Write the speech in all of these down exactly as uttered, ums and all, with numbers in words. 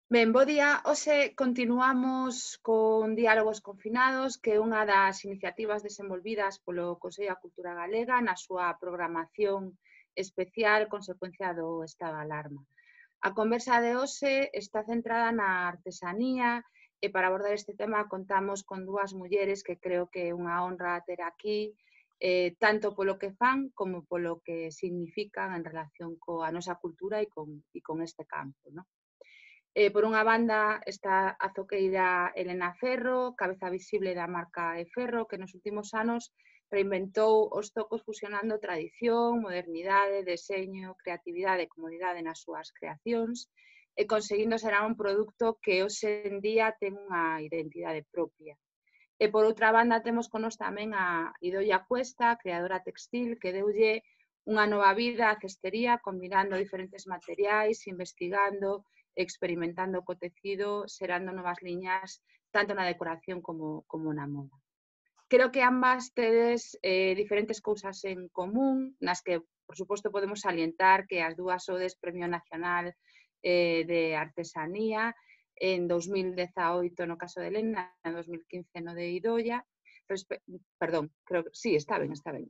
Ben, bo día. Hoxe continuamos con Diálogos Confinados, que é unha das iniciativas desenvolvidas polo Consello da Cultura Galega na súa programación especial consecuencia do estado de alarma. A conversa de hoxe está centrada na artesanía e para abordar este tema contamos con dúas mulleres que creo que é unha honra ter aquí, eh, tanto polo que fan como polo que significan en relación coa nosa cultura e con, e con este campo, non? Eh, por unha banda está a zoqueira Elena Ferro, cabeza visible da marca E Ferro, que nos últimos anos reinventou os zocos fusionando tradición, modernidade, deseño, creatividade e comodidade nas súas creacións e conseguindo ser un produto que hoxe en día ten unha identidade propia. E por outra banda temos con nos tamén a Idoia Cuesta, creadora textil, que deulle unha nova vida á cestería combinando diferentes materiais, investigando, experimentando co tecido, xerando novas liñas tanto na decoración como, como na moda. Creo que ambas tedes eh, diferentes cousas en común, nas que, por suposto, podemos salientar que as dúas sodes Premio Nacional eh, de Artesanía en dos mil dezaoito no caso de Elena, en dos mil quince no de Idoia. Respe Perdón, creo que sí, está ben, está ben.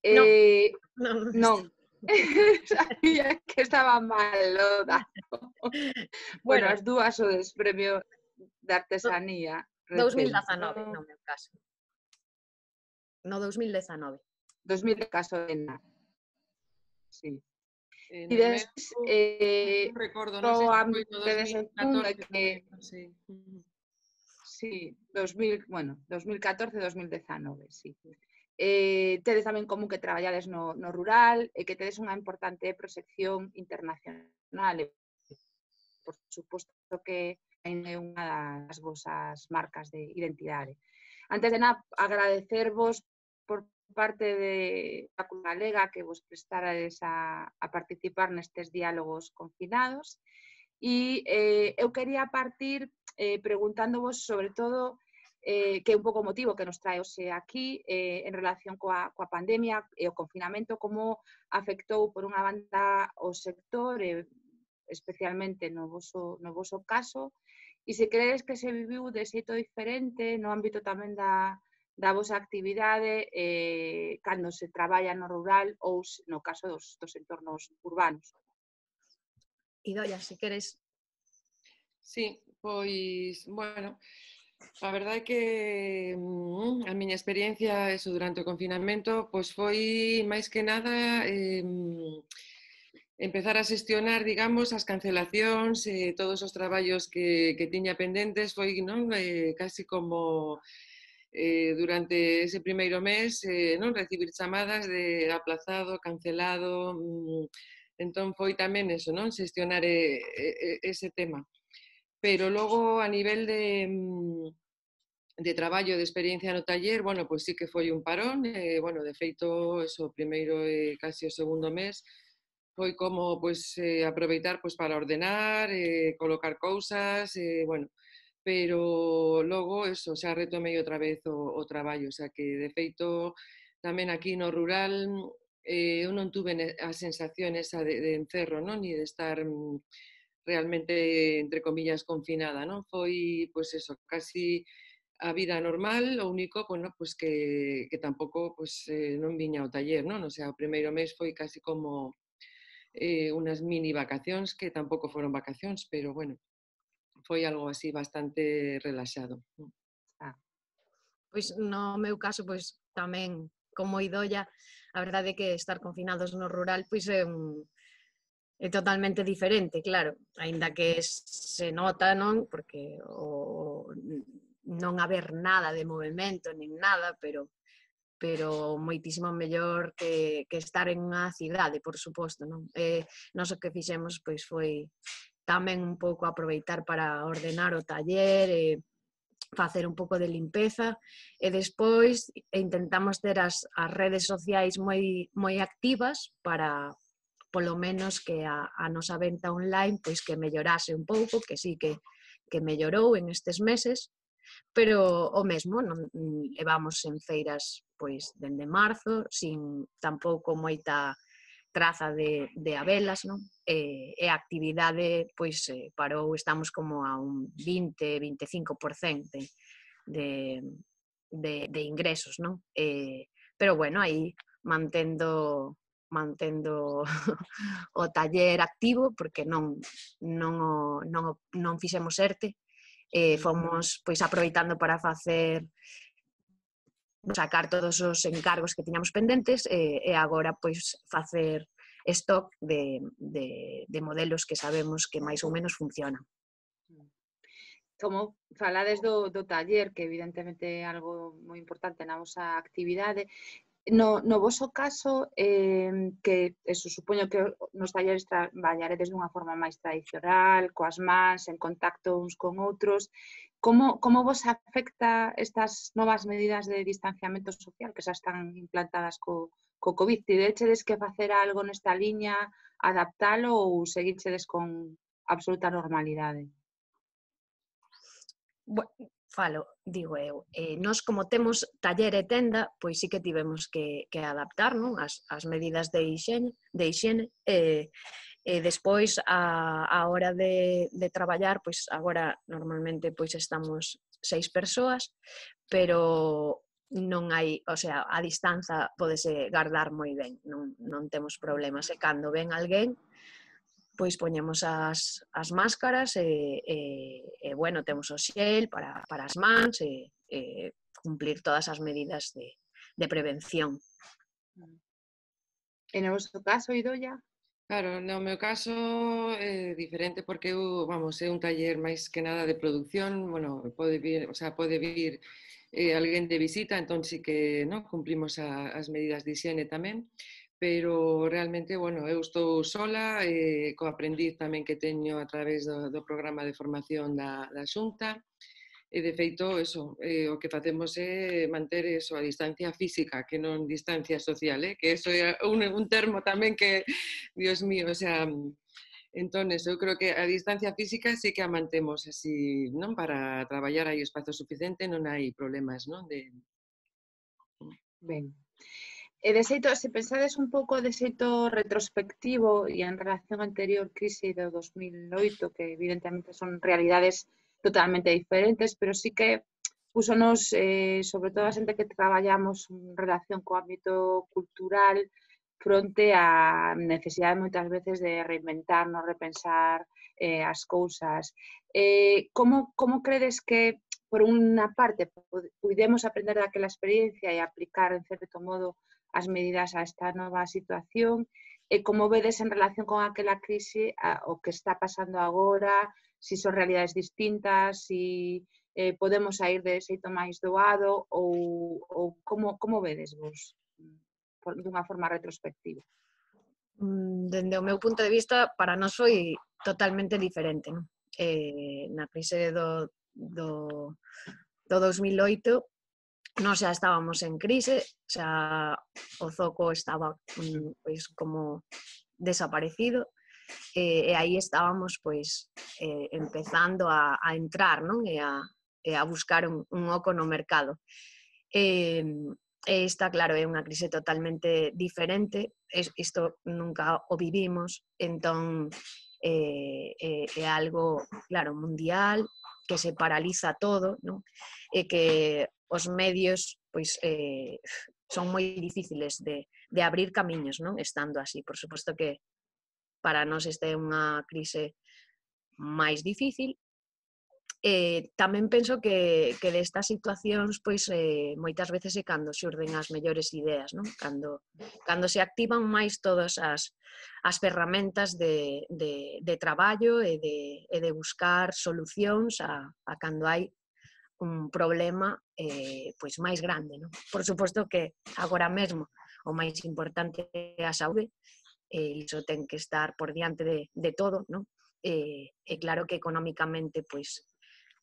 No, Eh, no, no non, sabía que estaba mal o dato. Bueno, Bueno, as dúas sodes Premio de Artesanía dous mil recente. dezanove, no meu caso. No dous mil dezanove. dos mil caso de Elena. Sí. Eh, E despois, eh, non recordo, no non sei se foi ámbito no de dos mil catorce, que sí. sí, dos mil, bueno, dos mil catorce dos mil dezanove, sí. Eh, tedes tamén común que traballades no, no rural e que tedes unha importante proxección internacional e, por suposto, que é unha das vosas marcas de identidade. Antes de nada, agradecervos por parte de da Cultura Galega que vos prestarades a, a participar nestes diálogos confinados e eh, eu quería partir eh, preguntándovos sobre todo eh, que é un pouco o motivo que nos trae hoxe aquí eh, en relación coa, coa pandemia e o confinamento, como afectou por unha banda o sector, eh, especialmente no voso, no voso caso, e se credes que se viviu de xeito diferente no ámbito tamén da, da vosa actividade eh, cando se traballa no rural ou no caso dos, dos entornos urbanos. Idoia, se queres. Sí, pois, bueno, a verdade é que mm, a miña experiencia eso durante o confinamento pois foi máis que nada eh, empezar a xestionar, digamos, as cancelacións e eh, todos os traballos que, que tiña pendentes foi, non, eh, casi como eh, durante ese primeiro mes eh, non recibir chamadas de aplazado, cancelado, mm, entón foi tamén eso, non, xestionar eh, eh, ese tema. Pero logo a nivel de, de traballo, de experiencia no taller, bueno, pois sí que foi un parón, eh, bueno, de feito, eso, o primeiro e casi o segundo mes, foi como, pois, eh, aproveitar pois, para ordenar, eh, colocar cousas, eh, bueno, pero logo, eso, xa retomei outra vez o, o traballo, o sea que, de feito, tamén aquí no rural, eh, eu non tuve a sensación esa de, de encerro, non? Ni de estar realmente, entre comillas, confinada, non? Foi, pois eso, casi a vida normal, o único, bueno, pois que, que tampouco pois, eh, non viña ao taller, non? O sea, o primeiro mes foi casi como eh, unas mini vacacións, que tampouco foron vacacións, pero, bueno, foi algo así bastante relaxado. Ah. Pois no meu caso, pois tamén, como Idoia, a verdade é que estar confinados no rural, pois é un... é totalmente diferente, claro, aínda que se nota, non? Porque o, non haber nada de movimento, nin nada, pero pero moitísimo mellor que, que estar en unha cidade, por suposto, non? E nós o que fixemos pois foi tamén un pouco aproveitar para ordenar o taller e facer un pouco de limpeza e despois intentamos ter as, as redes sociais moi, moi activas para polo menos que a, a nosa venta online pois que mellorase un pouco, que sí que, que mellorou en estes meses, pero o mesmo, non levamos en feiras pois dende marzo, sin tampouco moita traza de, de abelas, non? E, e a actividade pois, eh, parou, estamos como a un vinte a veinticinco por cento de, de, de, de ingresos, non? E, pero bueno, aí mantendo mantendo o taller activo, porque non, non, o, non, o, non fixemos ERTE, e fomos pois, aproveitando para facer sacar todos os encargos que tiñamos pendentes e, e agora pois facer stock de, de, de modelos que sabemos que máis ou menos funcionan. Como falades do, do taller, que evidentemente é algo moi importante na vosa actividade, no, no voso caso, eh, que eso, supoño que nos talleres traballaredes dunha forma máis tradicional, coas mans, en contacto uns con outros, como, como vos afecta estas novas medidas de distanciamento social que xa están implantadas co, co COVID? Tivechedes que facer algo nesta liña, adaptalo ou seguichedes con absoluta normalidade? Bueno, falo, digo eu, eh, nós como temos taller e tenda, pois sí que tivemos que, que adaptar, non? As, as medidas de higiene, de higiene e, e despois a, a hora de, de traballar, pois agora normalmente pois estamos seis persoas, pero non hai, o sea, a distanza podese guardar moi ben, non, non temos problemas, e cando ven alguén, pois poñemos as, as máscaras e, e, e bueno, temos o xel para, para as mans e, e cumplir todas as medidas de, de prevención. En o vosso caso, Idoia? Claro, no meu caso é diferente porque eu, vamos, é un taller máis que nada de producción, bueno, pode vir, o sea, pode vir eh, alguén de visita, entón sí que, no, cumplimos a, as medidas de higiene tamén, pero realmente, bueno, eu estou sola, eh, co aprendiz tamén que teño a través do, do programa de formación da, da Xunta, e de feito, eso, eh, o que facemos é manter eso, a distancia física, que non distancia social, eh? Que eso é un, un termo tamén que, Dios mío, o sea, entón, eso, eu creo que a distancia física sí que a mantemos así, non? Para traballar hai espazo suficiente, non hai problemas, non? De... Ben. E de xeito, se pensades un pouco de xeito retrospectivo e en relación á anterior crise do dos mil oito, que evidentemente son realidades totalmente diferentes, pero sí que púsonos, eh, sobre todo a xente que traballamos en relación co ámbito cultural, fronte á necesidade moitas veces de reinventarnos, repensar eh, as cousas. Eh, como, como credes que, por unha parte, puidemos aprender daquela experiencia e aplicar, en certo modo, as medidas a esta nova situación, e como vedes en relación con aquela crise a, o que está pasando agora, se si son realidades distintas, se si, eh, podemos sair de xeito máis doado ou, ou como, como vedes vos por, dunha forma retrospectiva? Dende o meu punto de vista, para nós foi totalmente diferente, non? Eh, na crise do, do, do dos mil oito, nós xa estábamos en crise, xa o zoco estaba pois, como desaparecido, e, e aí estábamos pois, eh, empezando a, a entrar, non? E, a, e a buscar un, un oco no mercado. E, e esta, claro, é unha crise totalmente diferente, isto nunca o vivimos, entón é, é, é algo, claro, mundial, que se paraliza todo, non? E que os medios pois, eh, son moi difíciles de, de abrir camiños, non? Estando así. Por suposto que para nós esta é unha crise máis difícil. E tamén penso que, que destas situacións pois, eh, moitas veces é cando xurden as mellores ideas, non? Cando, cando se activan máis todas as, as ferramentas de, de, de traballo e de, e de buscar solucións a, a cando hai un problema eh, pois máis grande, non? Por suposto que agora mesmo o máis importante é a saúde, e iso ten que estar por diante de, de todo, non? E, e claro que económicamente pois,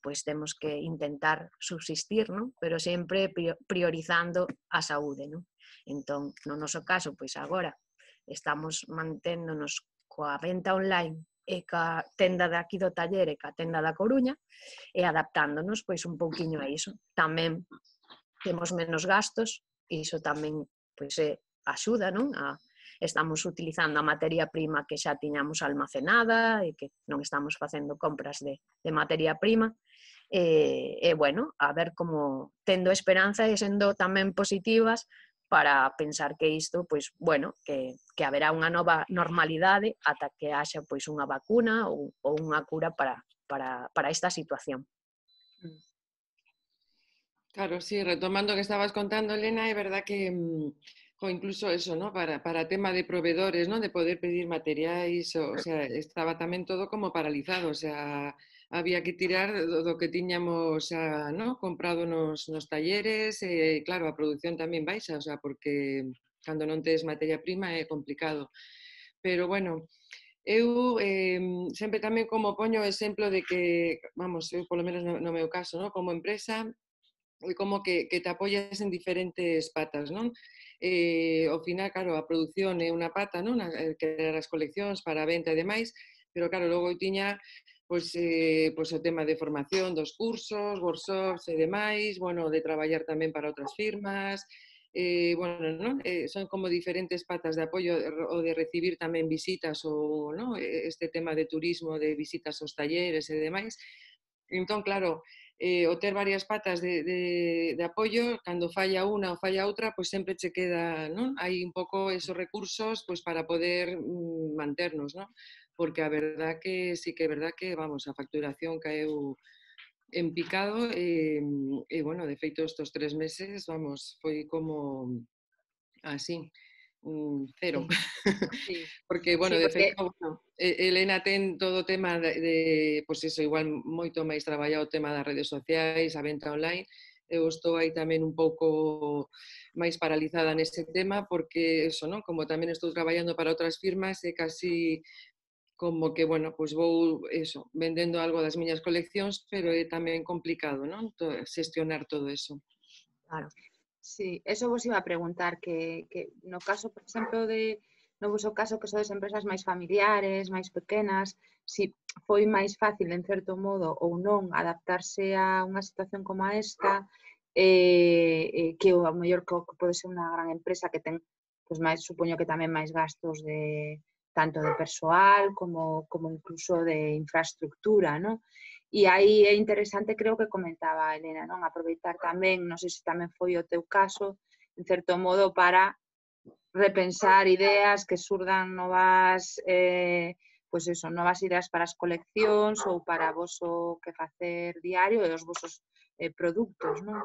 pois temos que intentar subsistir, non? Pero sempre priorizando a saúde, non? Entón, no noso caso, pois agora estamos manténdonos coa venta online e ca tenda de aquí do taller e ca tenda da Coruña, e adaptándonos pois un pouquiño a iso. Tamén temos menos gastos, e iso tamén pois, é, axuda, non? A, estamos utilizando a materia prima que xa tiñamos almacenada e que non estamos facendo compras de, de materia prima. E, e, bueno, a ver como tendo esperanza e sendo tamén positivas para pensar que isto, pois, bueno, que, que haberá unha nova normalidade ata que haxa pois unha vacuna ou, ou unha cura para, para, para esta situación. Claro, sí, retomando o que estabas contando, Elena, é verdad que o incluso eso, ¿no? Para, para tema de proveedores, ¿no? De poder pedir materiais, o, o sea, estaba tamén todo como paralizado, o sea, había que tirar do, do que tiñamos xa, ¿no? Comprado nos, nos talleres, e claro, a produción tamén baixa, o sea, porque cando non tes materia prima é complicado. Pero bueno, eu eh, sempre tamén como poño o exemplo de que, vamos, eu polo menos no, no meu caso, ¿no? Como empresa, é como que, que te apoyas en diferentes patas, non? Eh, ao final, claro, a produción é unha pata, non? Crear as coleccións para a venta e demais, pero claro, logo eu tiña pois, eh, pois o tema de formación dos cursos, workshops e demais, bueno, de traballar tamén para outras firmas, eh, bueno, non? Eh, son como diferentes patas de apoio o de recibir tamén visitas ou, non? Este tema de turismo, de visitas aos talleres e demais. Entón, claro, eh, o ter varias patas de, de, de apoio, cando falla unha ou falla outra, pois sempre che queda, non? Hai un pouco esos recursos pois para poder mm, manternos, non? Porque a verdad que sí que é verdad que, vamos, a facturación caeu en picado e, e bueno, de feito estos tres meses, vamos, foi como así, mm, cero. Sí. Sí. Porque, bueno, Sí, de porque... feito, bueno, Elena ten todo o tema de, de pois pues eso, igual moito máis traballado o tema das redes sociais, a venta online. Eu estou aí tamén un pouco máis paralizada nese tema porque, eso, non? Como tamén estou traballando para outras firmas, é casi como que, bueno, pois vou, eso, vendendo algo das miñas coleccións, pero é tamén complicado, non? Xestionar todo eso. Claro. Sí, eso vos iba a preguntar, que, que no caso, por exemplo, de no vosso caso que sodes empresas máis familiares, máis pequenas, si foi máis fácil, en certo modo, ou non, adaptarse a unha situación como esta, eh, eh, que o mellor que, que pode ser unha gran empresa que ten, pues, máis, supoño que tamén máis gastos de tanto de persoal como, como incluso de infraestructura, ¿no? E aí é interesante, creo que comentaba Elena, non? Aproveitar tamén, non sei se tamén foi o teu caso, en certo modo, para repensar ideas que surdan novas, eh, pois eso, novas ideas para as coleccións ou para vos o que facer diario e os vosos eh, produtos, non?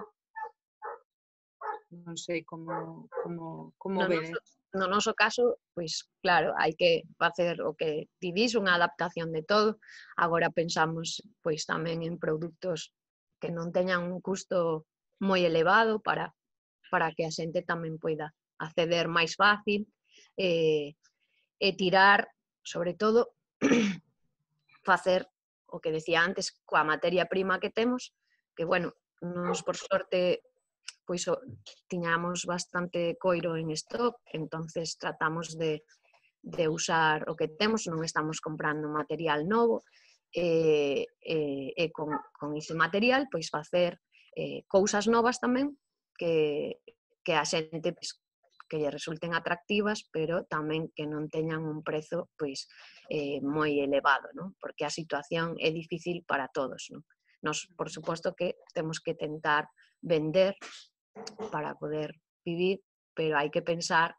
Non sei como, como, como No vedes. noso, no noso caso, pois claro, hai que facer o que ti dis, unha adaptación de todo. Agora pensamos pois tamén en produtos que non teñan un custo moi elevado para, para que a xente tamén poida acceder máis fácil e, e tirar, sobre todo, facer o que decía antes coa materia prima que temos, que, bueno, nos por sorte pois tiñamos bastante coiro en stock, entonces tratamos de, de usar o que temos, non estamos comprando material novo, e, e, e con, con ese material pois facer eh, cousas novas tamén que, que a xente pois, que lle resulten atractivas, pero tamén que non teñan un prezo pois eh, moi elevado, non? Porque a situación é difícil para todos, non? Nos, por suposto que temos que tentar vender para poder vivir, pero hai que pensar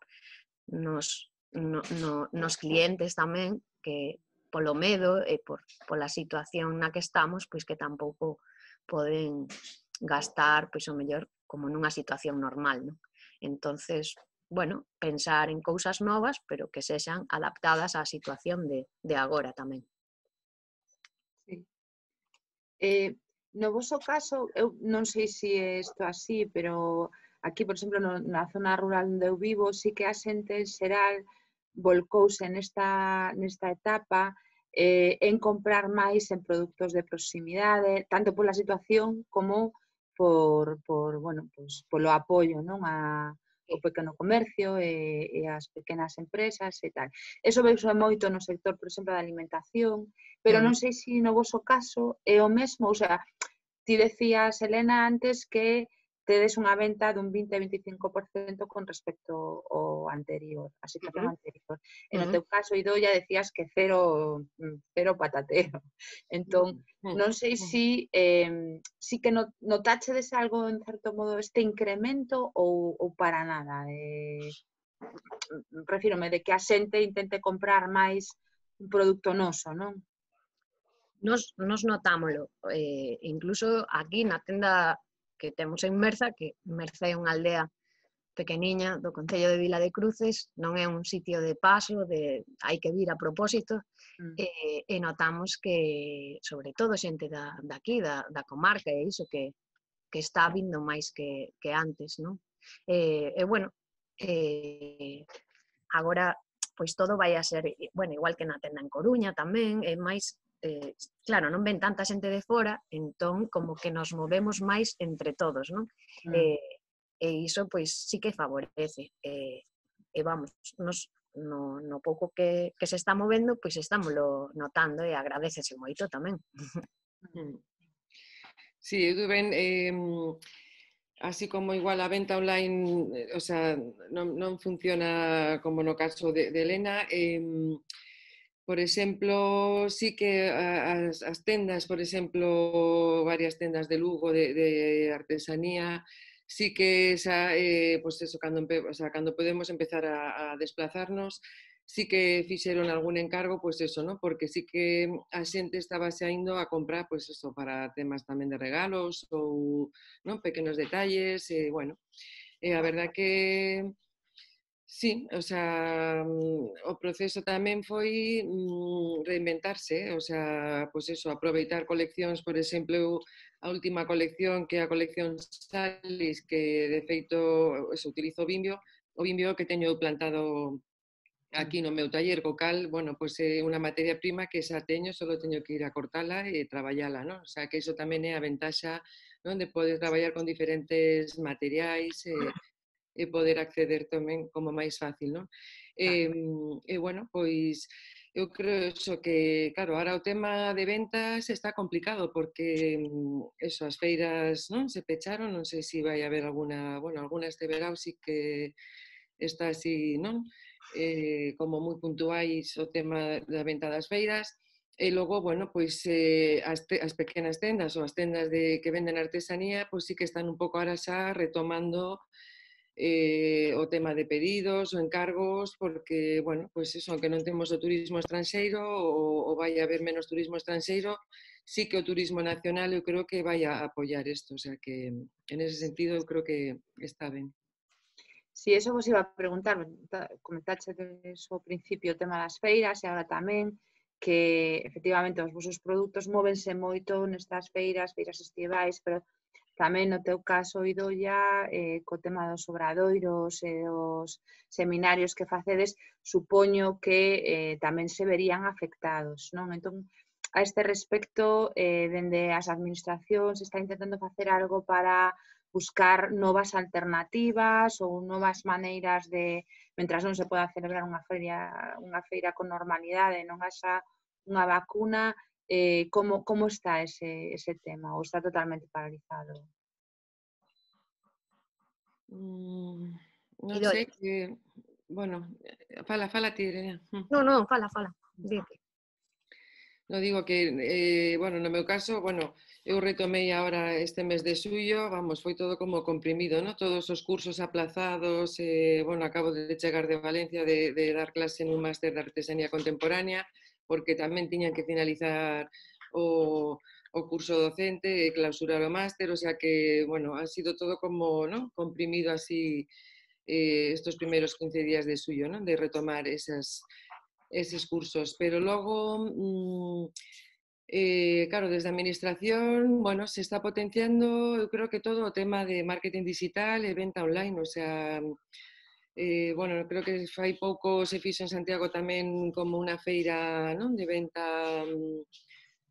nos, no, no, nos clientes tamén, que polo medo e por, pola situación na que estamos, pois que tampouco poden gastar, pois o mellor, como nunha situación normal, non? Entonces, bueno, pensar en cousas novas, pero que sexan adaptadas á situación de, de agora tamén. Sí. Eh, no voso caso, eu non sei se é isto así, pero aquí, por exemplo, no, na zona rural onde eu vivo, sí que a xente en xeral volcouse nesta, nesta etapa eh, en comprar máis en produtos de proximidade, tanto pola situación como por, por bueno, pues, polo apoio, non? A, o pequeno comercio e, e as pequenas empresas e tal. Eso veuse moito no sector, por exemplo, da alimentación, pero non sei se no voso caso é o mesmo, ou sea, ti decías, Elena, antes que tedes unha venta dun vinte a veinticinco por cento con respecto ao anterior, a situación Ujú, anterior. E no ujú, teu caso, Idoia, decías que cero, cero patatero. Entón, Mm, non sei mm. si, eh, si que no- notáchedes algo, en certo modo, este incremento ou, ou para nada. Eh, refírome de que a xente intente comprar máis un produto noso, non? Nos, nos notámolo, eh, incluso aquí na tenda que temos en Merza, que Merza é unha aldea pequeniña do concello de Vila de Cruces, non é un sitio de paso, de hai que vir a propósito, Mm. e, e notamos que, sobre todo, xente da, daqui, da, da comarca, e iso que, que está vindo máis que, que antes, non? E, e bueno, eh, agora, pois todo vai a ser, bueno, igual que na tenda en Coruña tamén, é máis, eh, claro, non ven tanta xente de fora, entón como que nos movemos máis entre todos, non? Mm. E, e iso, pois, sí que favorece. E, e vamos, nos, no, no pouco que, que se está movendo, pois estámoslo notando e agradecese moito tamén. Mm. Sí, eu ben, eh, así como igual a venta online, eh, o sea, non, non funciona como no caso de, de Elena. Eh, por exemplo, sí que as, as tendas, por exemplo, varias tendas de Lugo de, de artesanía, sí que xa, eh, pues eso, cando, o sea, cando podemos empezar a, a desplazarnos, sí que fixeron algún encargo, pois eso, ¿no? Porque sí que a xente estaba xa indo a comprar, pois eso, para temas tamén de regalos ou, non, pequenos detalles, e, bueno, e a verdad que sí, o sea, o proceso tamén foi mm, reinventarse, o sea, pois eso, aproveitar coleccións, por exemplo, eu, a última colección, que é a colección Salis, que de feito eso, utilizo o Vimbio, o Vimbio que teño plantado aquí no meu taller, co cal, bueno, pois é unha materia prima que xa teño, só teño que ir a cortala e traballala, non? O sea, que iso tamén é a ventaxa, non, de poder traballar con diferentes materiais e, e poder acceder tamén como máis fácil, non? E, e bueno, pois eu creo eso que, claro, ahora o tema de ventas está complicado porque eso, as feiras, non, se pecharon, non sei se vai haber alguna, bueno, alguna este verao sí que está así, non? Eh, como moi puntuais o tema da venta das feiras, e logo, bueno, pois eh, as, te, as pequenas tendas ou as tendas de, que venden artesanía, pois sí que están un pouco ahora xa retomando eh, o tema de pedidos ou encargos, porque, bueno, pois eso, aunque non temos o turismo estranxeiro ou, ou vai haber menos turismo estranxeiro, sí que o turismo nacional eu creo que vai a apoiar isto, o sea que en ese sentido eu creo que está ben. Si, eso vos iba a preguntar, comentachedes ao principio o tema das feiras e agora tamén que efectivamente os vosos produtos móvense moito nestas feiras, feiras estivais, pero tamén no teu caso, Idoia, eh, co tema dos obradoiros e os seminarios que facedes, supoño que eh, tamén se verían afectados, non? Entón, a este respecto, eh, dende as administracións está intentando facer algo para buscar novas alternativas ou novas maneiras de, mentras non se poda celebrar unha feira, unha feira con normalidade, non haxa unha vacuna, eh, como, como está ese, ese tema? Ou está totalmente paralizado? Mm, non Idoia. sei que, bueno, fala, fala ti, Irene. Non, non, fala, fala. Dite. No digo que, eh, bueno, no meu caso, bueno, eu retomei agora este mes de xullo, vamos, foi todo como comprimido, ¿no? Todos os cursos aplazados, eh, bueno, acabo de chegar de Valencia de, de dar clase nun máster de artesanía contemporánea, porque tamén tiñan que finalizar o, o curso docente e clausurar o máster, o sea que, bueno, ha sido todo como, ¿no? Comprimido así eh, estos primeros quince días de xullo, ¿no? De retomar esas eses cursos, pero logo, mmm, eh, claro, desde a administración, bueno, se está potenciando, eu creo que todo o tema de marketing digital e venta online, o sea, eh, bueno, creo que fai pouco se fixo en Santiago tamén como unha feira, non, de venta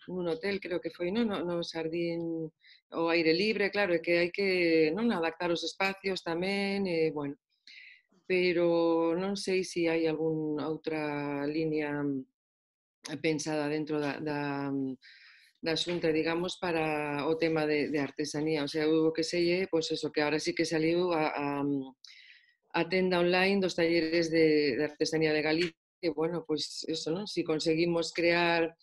nun hotel, creo que foi, non, no, no Sardín, o aire libre, claro, é que hai que, non, adaptar os espacios tamén, e, bueno, pero non sei se hai algunha outra liña pensada dentro da, da, da Xunta, digamos, para o tema de, de artesanía. O sea, o que sei, pois eso, que ahora sí que saliu a, a, a tenda online dos talleres de, de artesanía de Galicia. E, bueno, pois eso, non? Si conseguimos crear,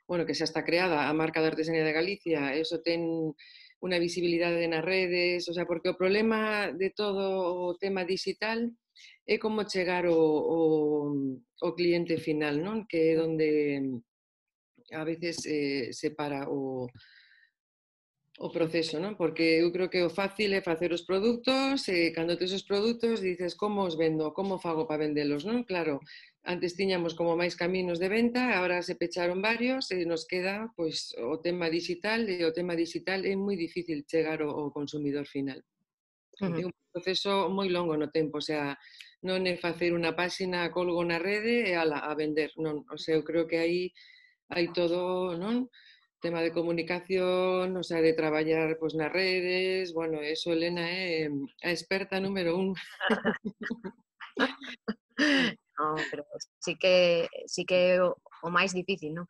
bueno, que xa está creada a marca de artesanía de Galicia, eso ten unha visibilidade nas redes, o sea, porque o problema de todo o tema digital é como chegar o, o, o cliente final, non? Que é onde a veces eh, se para o, o proceso, non? Porque eu creo que o fácil é facer os produtos e cando tes os produtos dices como os vendo, como fago para vendelos, non? Claro, antes tiñamos como máis caminos de venta, agora se pecharon varios e nos queda pois o tema digital e o tema digital é moi difícil chegar ao, ao consumidor final. É un proceso moi longo no tempo, o sea, non é facer unha páxina, colgo na rede e ala, a vender, non, o sea, eu creo que aí hai todo, non? Tema de comunicación, o sea, de traballar pois, nas redes, bueno, eso Elena é a experta número un. No, pero sí que sí que o, o máis difícil, non?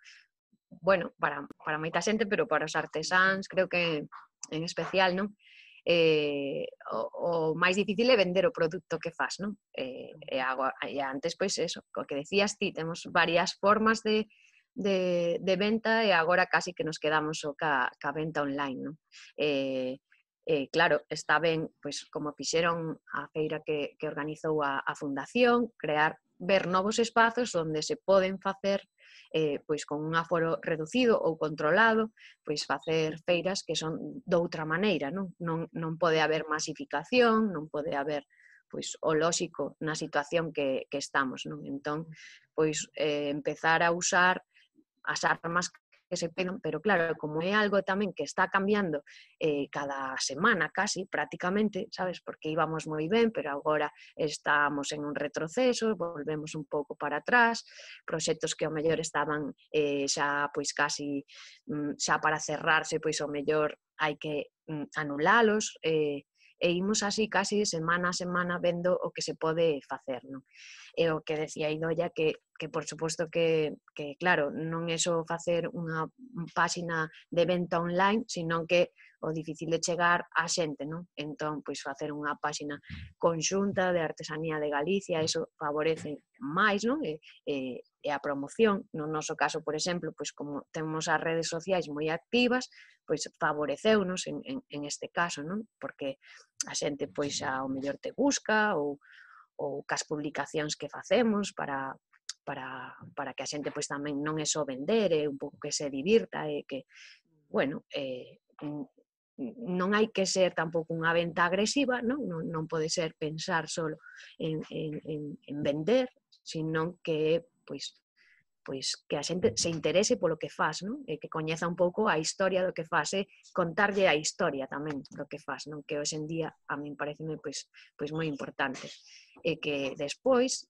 Bueno, para, para moita xente, pero para os artesáns creo que en especial, non? Eh, o, o máis difícil é vender o produto que fas, non? Eh, e, agora, e antes, pois eso, o que decías ti, temos varias formas de, de, de venta e agora casi que nos quedamos o ca, ca venta online, non? Eh, eh, claro, está ben, pois, como fixeron a feira que, que organizou a, a Fundación, crear, ver novos espazos onde se poden facer Eh, pois con un aforo reducido ou controlado, pois facer feiras que son doutra maneira, non? Non, non pode haber masificación, non pode haber pois o lóxico na situación que, que estamos, non? Entón, pois eh, empezar a usar as armas que se pedan, pero claro, como é algo tamén que está cambiando eh, cada semana casi, prácticamente, sabes, porque íbamos moi ben, pero agora estamos en un retroceso, volvemos un pouco para atrás, proxectos que ao mellor estaban eh, xa pois casi mm, xa para cerrarse, pois ao mellor hai que mm, anulalos, eh, e imos así casi semana a semana vendo o que se pode facer, non? E o que decía Idoia que, que por suposto que, que, claro, non é só facer unha páxina de venta online, sino que o difícil de chegar á xente, non? Entón, pois facer unha páxina conxunta de artesanía de Galicia, iso favorece máis, non? E, e, e a promoción, no noso caso, por exemplo, pois como temos as redes sociais moi activas, pois favoreceunos en, en, en este caso, non? Porque a xente pois ao mellor te busca ou ou cas publicacións que facemos para, para, para que a xente pois, tamén non é só vender, é un pouco que se divirta e que, bueno, eh, non hai que ser tampouco unha venta agresiva, non, non, non pode ser pensar só en, en, en, en vender, sino que pois, pois que a xente se interese polo que faz, non? E que coñeza un pouco a historia do que faz, e contarlle a historia tamén do que faz, non? Que hoxe en día a min pareceme pois, pois moi importante. E que despois,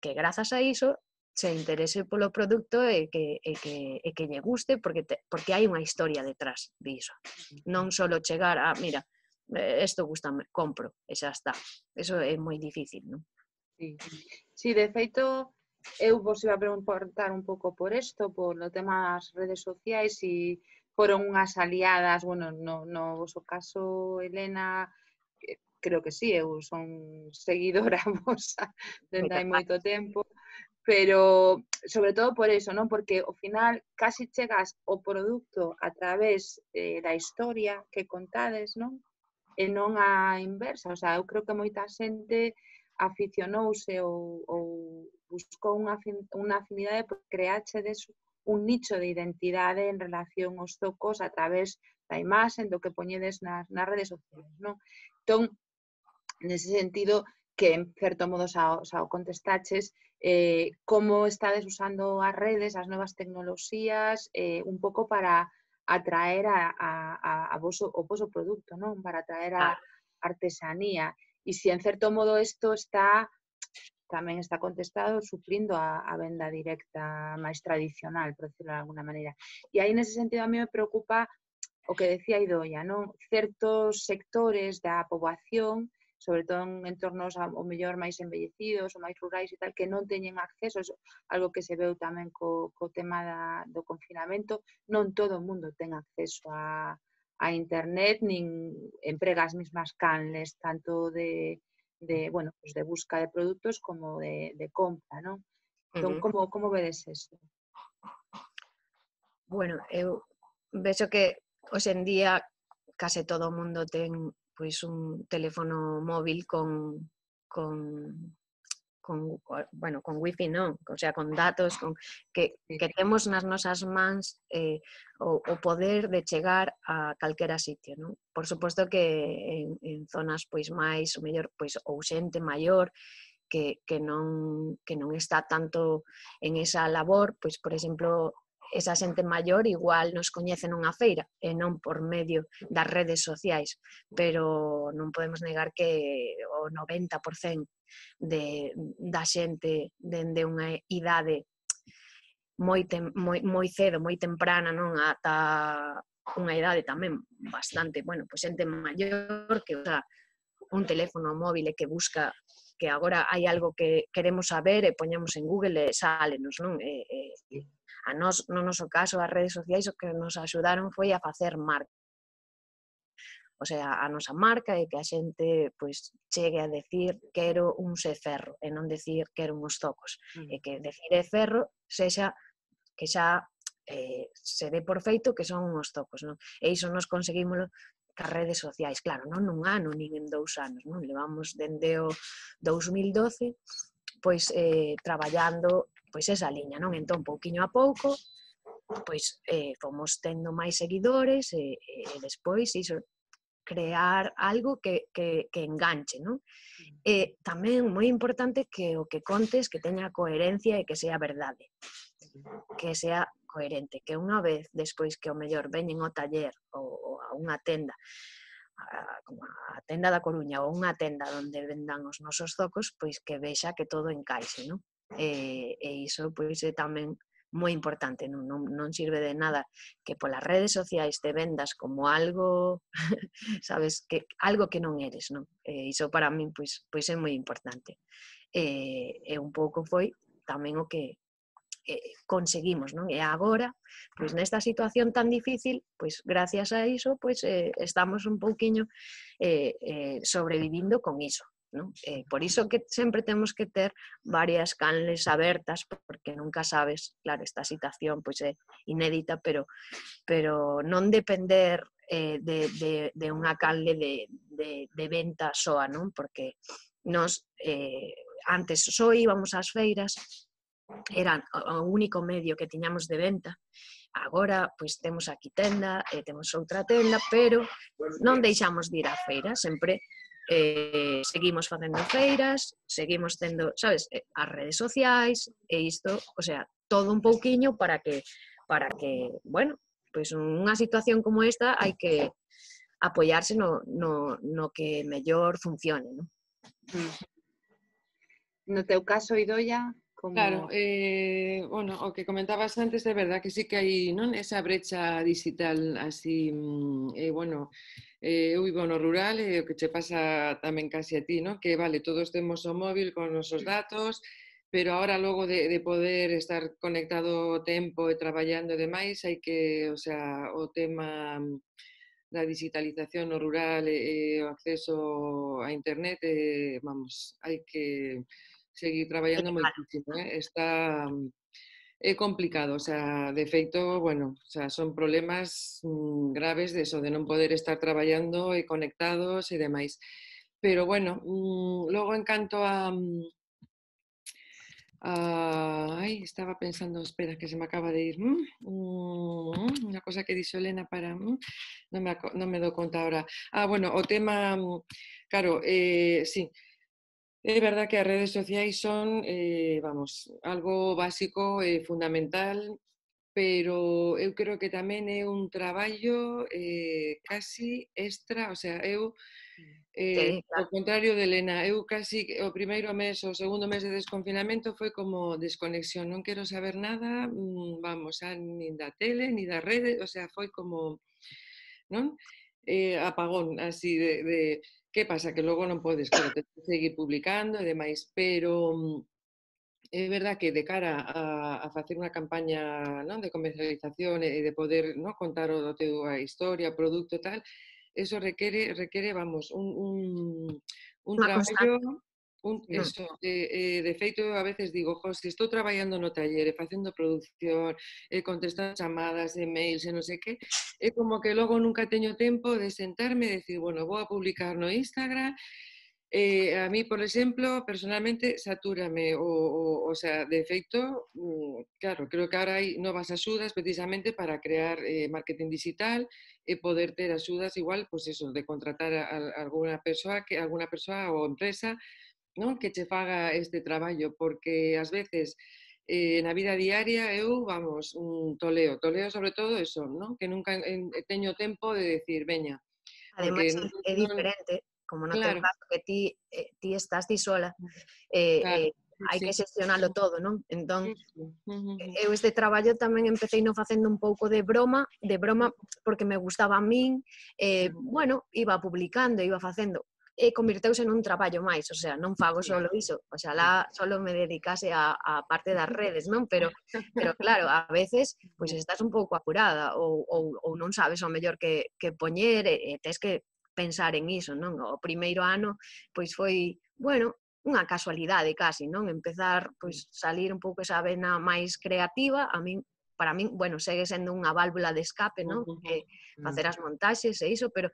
que grazas a iso, se interese polo produto e que, e que, e que lle guste, porque, te, porque hai unha historia detrás diso. Non só chegar a, mira, isto gustame, compro, e xa está. Eso é moi difícil, non? Sí, sí, de feito, eu vos iba a preguntar un pouco por isto, por o tema das redes sociais, e foron unhas aliadas, bueno, no, no vosso caso, Elena, creo que sí, eu son seguidora vosa dende hai moito tempo, pero sobre todo por eso, non? Porque ao final casi chegas ao produto a través eh, da historia que contades, non? E non a inversa, o sea, eu creo que moita xente aficionouse ou, ou buscou unha, unha afinidade por creáchedes un nicho de identidade en relación aos zocos a través da imaxe, do que poñedes nas, nas redes sociais, non? Entón, nese sentido, que en certo modo xa, xa o contestaches, eh, como estades usando as redes, as novas tecnoloxías, eh, un pouco para atraer a, a, a, a voso, o voso produto, non? Para atraer a artesanía. E se en certo modo isto está, tamén está contestado, suplindo a, a venda directa máis tradicional, por decirlo de alguna maneira. E aí, nese sentido, a mí me preocupa o que decía Idoia, non? Certos sectores da poboación sobre todo en entornos ao mellor máis envellecidos ou máis rurais e tal, que non teñen acceso, eso, algo que se veu tamén co, co tema da, do confinamento, non todo o mundo ten acceso a, a internet, nin emprega as mismas canles, tanto de, de, bueno, pues de busca de produtos como de, de compra, non? Entón, Uh -huh. como, como vedes eso? Bueno, eu vexo que hoxe en día case todo o mundo ten pois un teléfono móvil con con con bueno, con wifi non, o sea, con datos, con que que temos nas nosas mans eh, o, o poder de chegar a calquera sitio, non? Por suposto que en, en zonas pois máis, o mellor, pois ou xente maior que que non que non está tanto en esa labor, pois por exemplo, esa xente maior igual nos coñece nunha feira e non por medio das redes sociais, pero non podemos negar que o noventa por cento de, da xente dende unha idade moi, tem, moi, moi cedo, moi temprana, non ata unha idade tamén bastante, bueno, pois xente maior que usa un teléfono móvil e que busca que agora hai algo que queremos saber e poñemos en Google e sálenos, non? E, e, a nós, no noso caso, as redes sociais o que nos axudaron foi a facer marca. O sea, a nosa marca e que a xente pois, chegue a decir quero un se ferro e non decir quero uns zocos. Mm. E que decir é ferro sexa que xa eh, se dé por feito que son uns zocos, non? E iso nos conseguímoslo cas redes sociais, claro, non nun ano, nin en dous anos, non? Levamos dende o dous mil doce pois eh, traballando pois esa liña, non? Entón, pouquiño a pouco, pois eh, fomos tendo máis seguidores e, e despois iso, crear algo que, que, que enganche, non? E tamén moi importante que o que contes que teña coherencia e que sea verdade, que sea coherente, que unha vez despois que o mellor veñen ao taller ou, ou a unha tenda, a, como a tenda da Coruña ou unha tenda onde vendan os nosos zocos, pois que vexa que todo encaixe, non? E, e iso pois é tamén moi importante, non, non, non sirve de nada que polas redes sociais te vendas como algo, sabes, que algo que non eres, non? E iso para min pois, pois é moi importante. E, e un pouco foi tamén o que eh, conseguimos, non? E agora, pois nesta situación tan difícil, pois gracias a iso, pois eh, estamos un pouquiño eh, eh, sobrevivindo con iso. Non? Eh, por iso que sempre temos que ter varias canles abertas, porque nunca sabes, claro, esta situación pois é inédita, pero, pero non depender eh, de, de, de unha canle de, de, de venta soa, non? Porque nos eh, antes só íbamos ás feiras, era o único medio que tiñamos de venta. Agora, pois, temos aquí tenda, e temos outra tenda, pero non deixamos de ir á feira, sempre eh, seguimos facendo feiras, seguimos tendo, sabes, as redes sociais, e isto, o sea, todo un pouquiño para que, para que, bueno, pois unha situación como esta hai que apoiarse no, no, no que mellor funcione, non? No teu caso, Idoia, como... Claro, eh, bueno, o que comentabas antes, é verdad que sí que hai, non, esa brecha digital así, eh, bueno, eh, eu vivo no rural e o que che pasa tamén casi a ti, non? Que vale, todos temos o móvil con os nosos datos, pero ahora logo de, de poder estar conectado o tempo e traballando e demais, hai que, o sea, o tema da digitalización no rural e, e o acceso a internet, eh, vamos, hai que seguir traballando moitísimo, eh? Está é complicado, o sea, de feito, bueno, o sea, son problemas mmm, graves de eso, de non poder estar traballando e conectados e demais. Pero bueno, mmm, logo en canto a, a ai, estaba pensando, espera, que se me acaba de ir, mmm, unha cosa que dixo Elena para, mmm, non me, non me dou conta ahora. Ah, bueno, o tema, claro, eh, sí, é verdad que as redes sociais son, eh, vamos, algo básico e fundamental, pero eu creo que tamén é un traballo eh, casi extra, o sea, eu, eh, Sí, claro. ao contrario de Elena, eu casi o primeiro mes, o segundo mes de desconfinamento foi como desconexión, non quero saber nada, vamos, a, nin da tele, ni das redes, o sea, foi como, non? Eh, apagón, así de... de Que pasa? Que logo non podes, claro, tens que seguir publicando e demais, pero é verdad que de cara a, a facer unha campaña, non, de comercialización e de poder, non, contar o teu a historia, o produto e tal, eso requere, requere, vamos, un, un, un Unha traballo, constante. un, Mm. eso, eh, eh, de feito, a veces digo, jo, se estou traballando no taller e facendo produción, e contestando chamadas, e-mails e non sei que, é como que logo nunca teño tempo de sentarme e decir, bueno, vou a publicar no Instagram. Eh, a mí, por exemplo, personalmente, satúrame, o, o, o sea, de feito, claro, creo que ahora hai novas axudas precisamente para crear eh, marketing digital e poder ter axudas igual, pois pues eso, de contratar a, a alguna persoa, que alguna persoa ou empresa, non, que che faga este traballo, porque ás veces eh, na vida diaria eu, vamos, un toleo, toleo sobre todo eso, non, que nunca en, teño tempo de decir, veña, Ademais, porque é non, diferente, como no teu claro, caso, que ti, eh, ti estás ti sola, eh, claro, eh, hai sí, que xestionalo todo, non? Entón, justo. Uh -huh. eu este traballo tamén empecé no facendo un pouco de broma, de broma porque me gustaba a min, eh, bueno, iba publicando, iba facendo, e convirteuse nun traballo máis, o sea, non fago solo iso, oxalá solo me dedicase a, a parte das redes, non? Pero, pero claro, a veces, pois estás un pouco apurada ou, ou, ou non sabes o mellor que, que poñer e, e tes que pensar en iso, non? O primeiro ano, pois foi, bueno, unha casualidade casi, non? Empezar, pois, salir un pouco esa vena máis creativa, a min, para min, bueno, segue sendo unha válvula de escape, non? Eh, facer as montaxes e iso, pero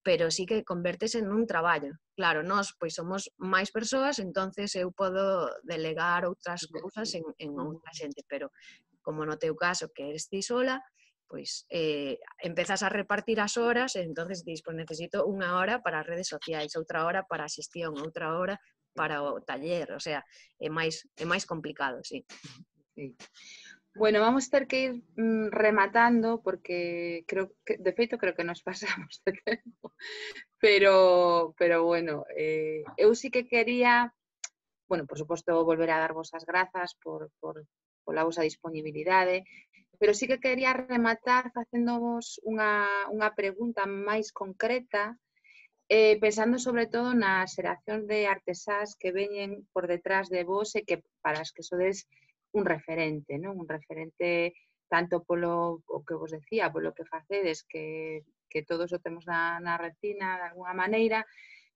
pero sí que convértese nun traballo. Claro, nós pois somos máis persoas, entonces eu podo delegar outras cousas en, en outra xente, pero como no teu caso que eres ti sola, pois eh, empezas a repartir as horas e entonces dis, pois necesito unha hora para as redes sociais, outra hora para a xestión, outra hora para o taller, o sea, é máis, é máis complicado, sí. Sí. Bueno, vamos ter que ir mm, rematando porque creo que, de feito, creo que nos pasamos de tempo. Pero, pero bueno, eh, eu sí que quería, bueno, por suposto, volver a dar vos as grazas por, por, pola vosa disponibilidade, pero sí que quería rematar facéndovos unha, unha pregunta máis concreta, eh, pensando sobre todo na xeración de artesás que veñen por detrás de vos e que para as que sodes un referente, non? Un referente tanto polo o que vos decía, polo que facedes, que, que todos o temos na, na retina de alguna maneira,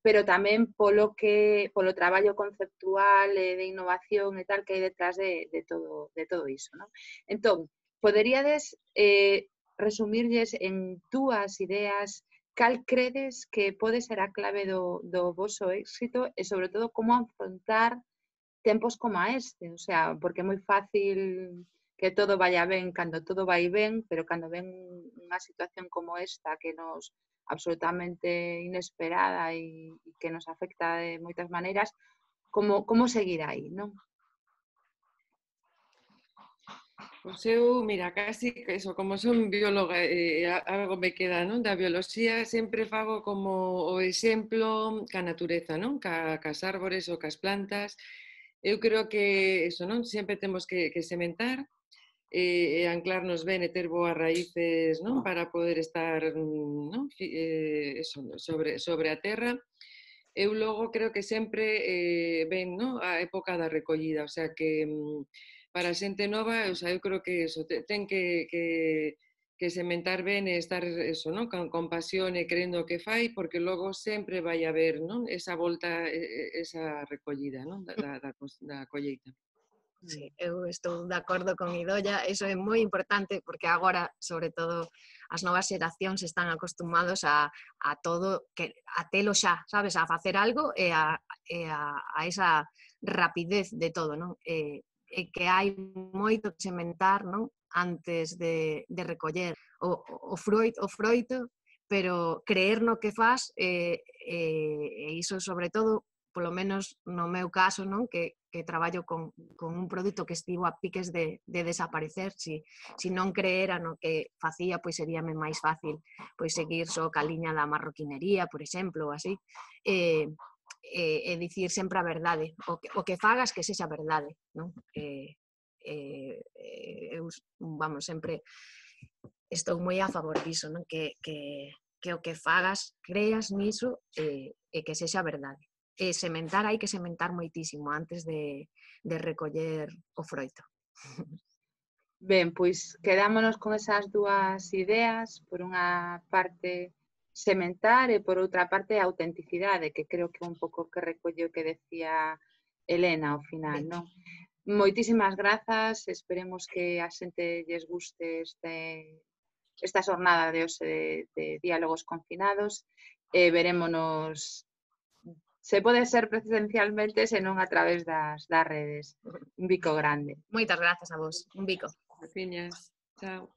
pero tamén polo que polo traballo conceptual e de innovación e tal que hai detrás de, de, todo, de todo iso, non? Entón, poderíades eh, resumirlles en túas ideas cal credes que pode ser a clave do, do voso éxito e sobre todo como afrontar tempos como este, o sea, porque é moi fácil que todo vaya ben cando todo vai ben, pero cando ven unha situación como esta que nos absolutamente inesperada e, e que nos afecta de moitas maneiras, como, como seguir aí, non? Pois eu, mira, casi que eso, como son bióloga e eh, algo me queda, non, da bioloxía, sempre fago como o exemplo ca natureza, non? Ca, cas árbores ou cas plantas. Eu creo que eso, non? Sempre temos que, que sementar e, e anclarnos ben e ter boas raíces, non? Para poder estar, non? Eh, eso, sobre, sobre a terra. Eu logo creo que sempre eh, ven, non? A época da recollida, o sea que para a xente nova, o sea, eu creo que eso, ten que, que, que sementar ben e estar eso, non? Con, con pasión e crendo o que fai, porque logo sempre vai haber, non? Esa volta, esa recollida, non? Da, da, da colleita. Sí, eu estou de acordo con Idoia, iso é moi importante porque agora, sobre todo, as novas xeracións están acostumados a, a todo, que, a telo xa, sabes, a facer algo e a, e a, a esa rapidez de todo, non? E, e que hai moito que sementar, non? Antes de, de recoller o, o, froito, o froito, pero creer no que faz e, e, e iso sobre todo, polo menos no meu caso, non? Que, que traballo con, con un produto que estivo a piques de, de desaparecer, si, si non creera no que facía, pois seríame máis fácil pois seguir só ca liña da marroquinería, por exemplo, ou así, e, e, e dicir sempre a verdade, o que, o que fagas que sexa verdade, non? E, e, eu, vamos, sempre estou moi a favor diso, non? Que, que, que o que fagas creas niso e, e que sexa verdade. E sementar hai que sementar moitísimo antes de, de recoller o froito. Ben, pois quedámonos con esas dúas ideas, por unha parte sementar e por outra parte a autenticidade, que creo que é un pouco que recolle o que decía Elena ao final, non? Moitísimas grazas, esperemos que a xente lles guste este, esta xornada de hoxe de, de diálogos confinados e verémonos, se pode ser presencialmente, senón a través das, das redes. Un bico grande. Moitas grazas a vos. Un bico. Graciñas. Chao.